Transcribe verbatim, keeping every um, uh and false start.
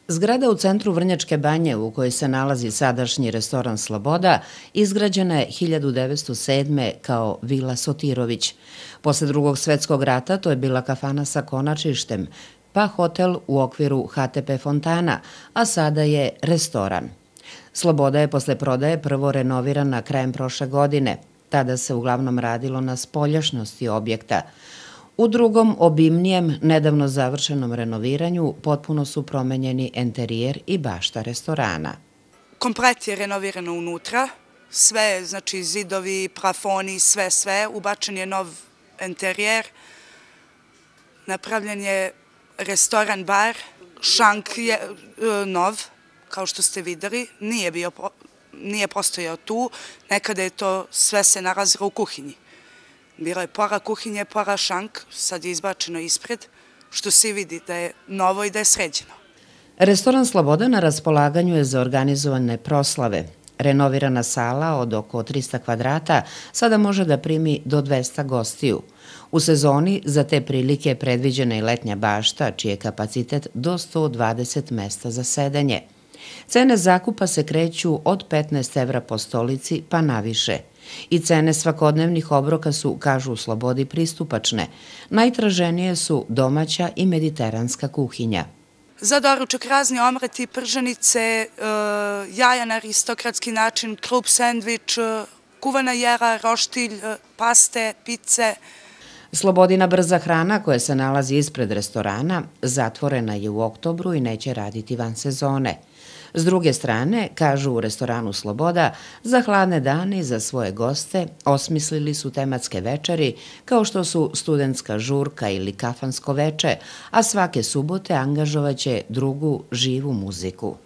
Zgrada u centru Vrnjačke Banje, u kojoj se nalazi sadašnji restoran Sloboda, izgrađena je hiljadu devetsto sedme. kao Vila Sotirović. Posle Drugog svetskog rata to je bila kafana sa konačištem, pa hotel u okviru ha te pe Fontana, a sada je restoran. Sloboda je posle prodaje prvo renovirana krajem prošle godine. Tada se uglavnom radilo na spoljašnosti objekta. U drugom, obimnijem, nedavno završenom renoviranju potpuno su promenjeni enterijer i bašta restorana. Komplet je renovirano unutra, sve, znači zidovi, plafoni, sve, sve. Ubačen je nov enterijer, napravljen je restoran, bar, šank je nov, kao što ste videli, nije bio, nije postojao tu, nekada je to sve se nalazilo u kuhinji. Bilo je pola kuhinje, pola šank, sad je izbačeno ispred, što se vidi da je novo i da je sređeno. Restoran Sloboda na raspolaganju je za organizovane proslave. Renovirana sala od oko trista kvadrata sada može da primi do dvesta gostiju. U sezoni za te prilike je predviđena i letnja bašta, čiji je kapacitet do sto dvadeset mesta za sedenje. Cene zakupa se kreću od petnaest evra po stolici pa naviše. I cene svakodnevnih obroka su, kažu u Slobodi, pristupačne. Najtraženije su domaća i mediteranska kuhinja. Za doručak razni omleti, prženice, jaja na aristokratski način, klub sendvič, kuvana jela, roštilj, paste, pice. Slobodina brza hrana, koja se nalazi ispred restorana, zatvorena je u oktobru i neće raditi van sezone. S druge strane, kažu u restoranu Sloboda, za hladne dane i za svoje goste osmislili su tematske večeri kao što su studentska žurka ili kafansko veče, a svake subote angažovaće drugu živu muziku.